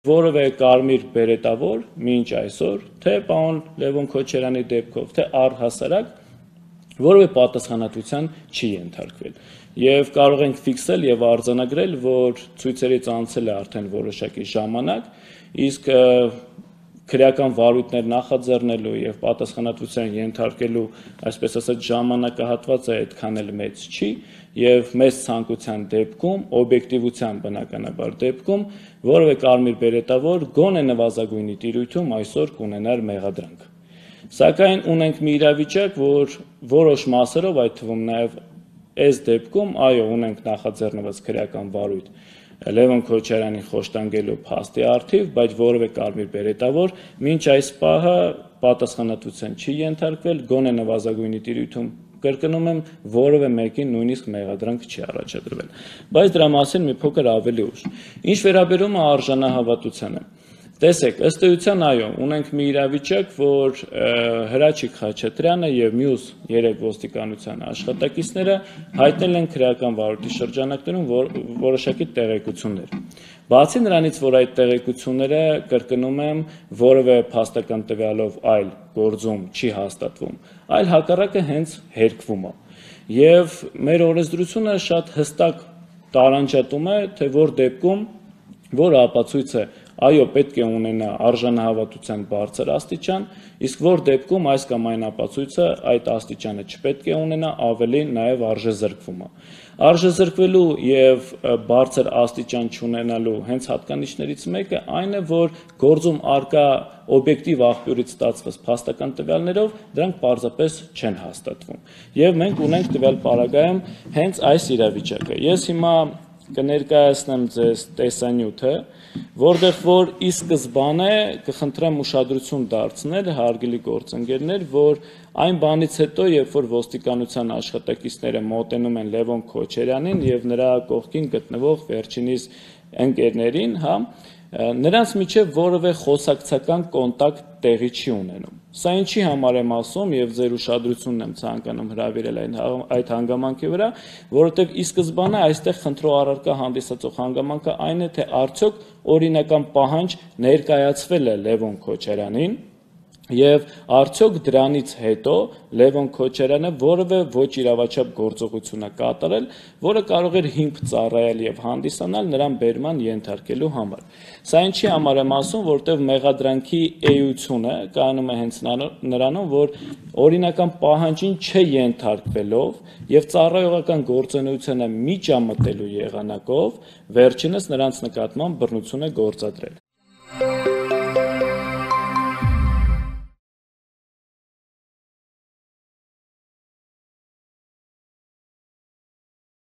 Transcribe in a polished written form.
որևէ կարմիր բերետավոր մինչ այսօր, թե պարոն Լևոն Քոչարյանի դեպքով, թե առհասարակ որևէ պատասխանատվության չի ենթարկվել։ Եվ կարող ենք ֆիքսել եւ արձանագրել, որ ցույցերից անցել է արդեն որոշակի ժամանակ, իսկ քրեական վարույթներ նախաձեռնելու եւ պատասխանատվության ենթարկելու, այսպես ասած, ժամանակահատվածը այդքան էլ մեծ չի եւ մեծ ցանկության դեպքում, օբյեկտիվության բնականաբար դեպքում, որևէ կարմիր բերետավոր գոնե նվազագույնի տիրույթում այսօր կունենար մեղադրանք։ Սակայն ունենք մի իրավիճակ, որ որոշ մասերով, այդ թվում նաեւ այս դեպքում, այո, ունենք նախաձեռնված քրեական վարույթ Լևոն Քոչարյանին խոշտանգելու փաստի առթիվ, բայց որևէ կարմիր բերետավոր մինչ այս պահը պատասխանատվության չի ենթարկվել, գոնե նվազագույնի տիրույթում, կրկնում եմ, որևէ մեկին նույնիսկ մեղադրանք չի առաջադրվել։ Բայց դրա մասին մի փոքր ավելի ուշ։ Ինչ վերաբերում է արժանահավատությանը, տեսեք, ըստ էության, այո, ունենք մի իրավիճակ, որ Հրաչիկ Խաչատրյանը եւ մյուս 3 ոստիկանության աշխատակիցները հայտնել են քրեական վարույթի շրջանակներում որոշակի տեղեկություններ։ Բացի նրանից, որ այդ տեղեկությունները, կրկնում եմ, որևէ փաստական տվյալով այլ գործում չի հաստատվում, այլ հակառակը հենց հերկվում է։ Եվ մեր օրենսդրությունը շատ հստակ տարանջատում է, թե որ դեպքում, որ ապացույցը այո, պետք է ունենա արժանահավատության բարձր աստիճան, իսկ որ դեպքում այս կամ այն ապացույցը այդ աստիճանը չպետք է ունենա, ավելի նաև արժեզրկվում է։ Արժեզրկվելու եւ բարձր աստիճան չունենալու հենց հատկանիշներից մեկը այն է, որ գործում արկա օբյեկտիվ աղբյուրից ստացված փաստական տվյալներով դրանք պարզապես չեն հաստատվում։ Եվ մենք ունենք տվյալ պարագայում հենց այս իրավիճակը։ Ես հիմա կներկայացնեմ ձեզ տեսանյութը, որտեղ որ ի սկզբանե կխնդրեմ ուշադրություն դարձնել, հարգելի գործընկերներ, որ այն բանից հետո, երբ որ ոստիկանության աշխատակիցները մոտենում են Լևոն Քոչարյանին եւ նրա կողքին գտնվող վերջինիս ընկերներին, նրանց միջև որևէ խոսակցական կոնտակտ տեղի չի ունենում։ Սա ինչի համար եմ ասում եւ ձեր ուշադրությունն եմ ցանկանում հրավիրել այդ հանգամանքի վրա, որովհետեւ ի սկզբանե այստեղ խնդրող առարկա հանդիսացող հանգամանքը այն է, թե արդյոք օրինական պահանջ ներկայացվել է Լևոն Քոչարյանին եւ արդյոք դրանից հետո Լևոն Քոչարյանը որևէ ոչ իրավաչափ գործողություն է կատարել, որը կարող էր հիմք ծառայել եւ հանդիսանալ նրան բերման ենթարկելու համար։ Սա ինչի համար եմ ասում, որտեղ մեղադրանքի էությունը կայանում է հենց նրանում, որ օրինական պահանջին չենթարկվելով եւ ծառայողական գործունեությանը միջամտելու եղանակով վերջինս նրանց նկատմամբ բռնություն է գործադրել։